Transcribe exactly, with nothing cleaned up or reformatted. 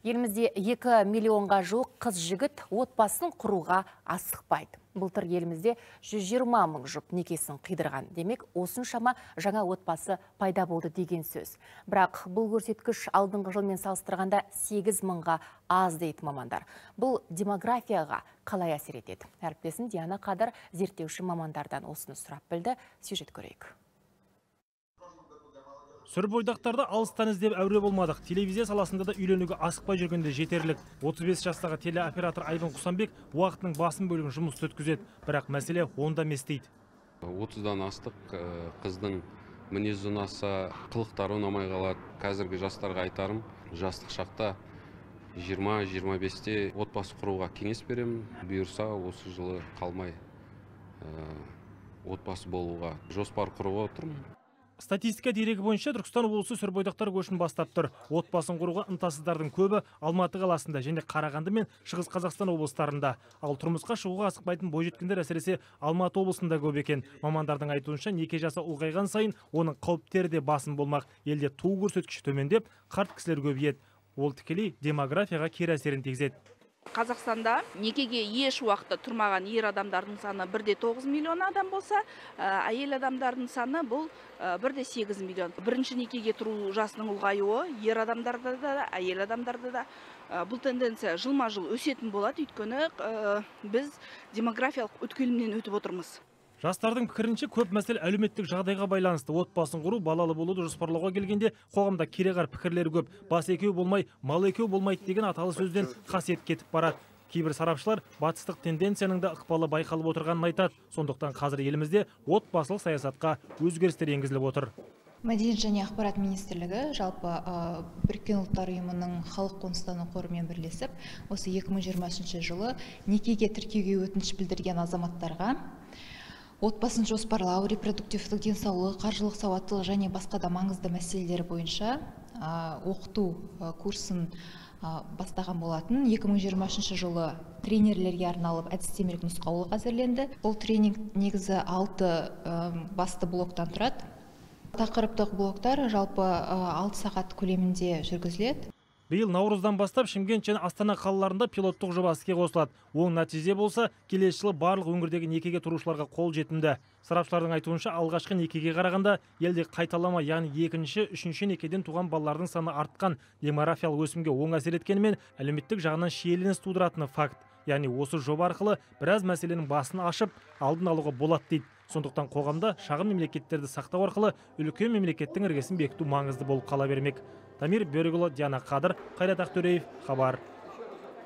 Елімізде екі миллионға жуық қыз жігіт отбасын құруға асықпайды. Былтыр елімізде жүз жиырма мың жұп некесін қидырған. Демек, осыншама жаңа отбасы пайда болды деген сөз. Бірақ бұл көрсеткіш алдыңғы жылмен салыстырғанда сегіз мыңға аз дейді мамандар. Бұл демографияға қалай әсер етеді? Әріптесім Диана Қадыр зерттеуші мамандардан осыны сұрап білді. Сюжет көрейік. Сүр бойдақтарды алыстан іздеп әуре болмадық. Телевизия саласында да үйленуге асықпай жүргенде жетерлік. отыз бес жастағы телеоператор Айбын Құсанбек уақытының басым бөлігін жұмыс өткізеді. Бірақ мәселе онда емес дейді. отыздан астық қыздың мінез ұнаса, қылықтары ұнамай қалады. Қазіргі жастарға айтарым, жастық шақта жиырма жиырма бесте отбасы құруға кеңес беремін. Бұйырса осы жылы қалмай отбасы болуға жоспар құруға отырмын. Статистика дерегі бойынша Түркістан облысы сүр бойдақтар көшін бастап тұр. Отбасын құруға ынтасыздардың көбі Алматы қаласында және Қарағанды мен Шығыс Қазақстан облыстарында. Ал тұрмысқа шығуға асықпайтын бойжеткендер әсіресе Алматы облысында көп екен. Мамандардың айтуынша неке жасы ұлғайған сайын оның қауіптері де басым болмақ. Елде туу көрсеткіші төмендеп, қарт кісілер көбейеді. Ол тікелей демографияға кері әсерін тигізеді. Қазақстанда некеге еш уақытта тұрмаған ер адамдардың саны бір де тоғыз миллион адам болса, әйел адамдардың саны бұл бір де сегіз миллион. Бірінші некеге тұру жасының ұлғаюы ер адамдарда да, әйел адамдарда да бұл тенденция жылма-жыл өсетін болады, өйткені біз демографиялық өткелімнен өтіп отырмыз. Жастардың пікірінше көп мәселе әлеуметтік жағдайға байланысты. Отбасын құру, балалы болуды жоспарлауға келгенде қоғамда кереғар пікірлері көп. Бас екеу болмай, мал екеу болмайды деген аталы сөзден қасиет кетіп барады. Кейбір сарапшылар батыстық тенденцияның да ықпалы байқалып отырғанын айтады. Сондықтан қазір елімізде отбасылық саясатқа өзгерістер енгізіліп отыр. Мәдениет және ақпарат министрлігі жалпы Біріккен ұлттар ұйымының халық қоныстану қорымен бірлесіп, осы екі мың жиырмасыншы жылы некеге тіркеуге өтініш білдірген азаматтарға отбасын жоспарлау, репродуктивтік денсаулық, қаржылық сауаттылық және басқа да маңызды мәселелері бойынша оқыту курсын бастаған болатын. екі мың жиырмасыншы жылы тренерлерге арналып әдістемелік нұсқаулық әзірленді. Бұл тренинг негізі алты басты блоктан тұрады. Тақырыптық блоктар жалпы алты сағат көлемінде жүргізіледі. Биыл наурыздан бастап Шымкент және Астана қалаларында пилоттық жоба іске қосылады. Оң нәтиже болса, келесі жылы барлық өңірдегі некеге тұрушыларға қол жетімді. Сарапшылардың айтуынша, алғашқы некеге қарағанда елде қайталама, яғни екінші, үшінші некеден туған балалардың саны артқан. Демографиялық өсімге оң әсер еткенімен, әлеуметтік жағынан шиеленіс тудыратыны факт. Яғни осы жоба арқылы біраз мәселенің басын ашып, алдын алуға болады дейді. Сондықтан қоғамда шағын мемлекеттерді сақтау арқылы үлкен мемлекеттің іргесін бекіту маңызды болып қала бермек. Дамир Бөрікұлы, Диана Қадыр, Қайрат Ақтөреев, хабар.